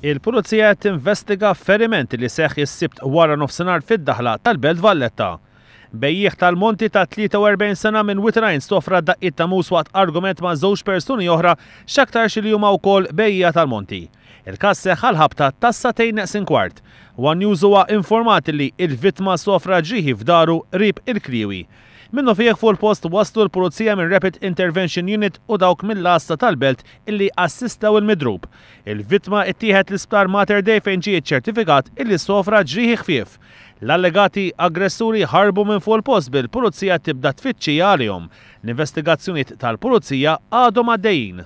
Il-Pulizija qed tinvestiga feriment li seħħ is-Sibt wara nofsinhar fid-daħla tal-Belt Valletta. Bejjiegħ tal-monti ta' 43 sena minn Wied il-Għajn sofra daqqiet ta' mus waqt argument ma' żewġ persuni oħra x'aktarx li huma wkoll bejjiegħa tal-monti. Il-każ seħħ għall-ħabta tas-sagħtejn neqsin kwart. One News huwa informat li l-vittma sofra ġrieħi f'daru qrib il-Kliewi. Minnufih fuq il-post waslu l-Pulizija minn Rapid Intervention Unit u dawk mill-Għassa tal-Belt illi assistew il-midrub. Il-vittma ittieħed l-Isptar Mater Dei fejn ġie ċċertifikat illi sofra ġrieħi ħfief. L-allegati aggressuri ħarbu minn fuq il-post bil-Pulizija tibda tfittxija għalihom. L-investigazzjonijiet tal-Pulizija għadhom għaddejjin.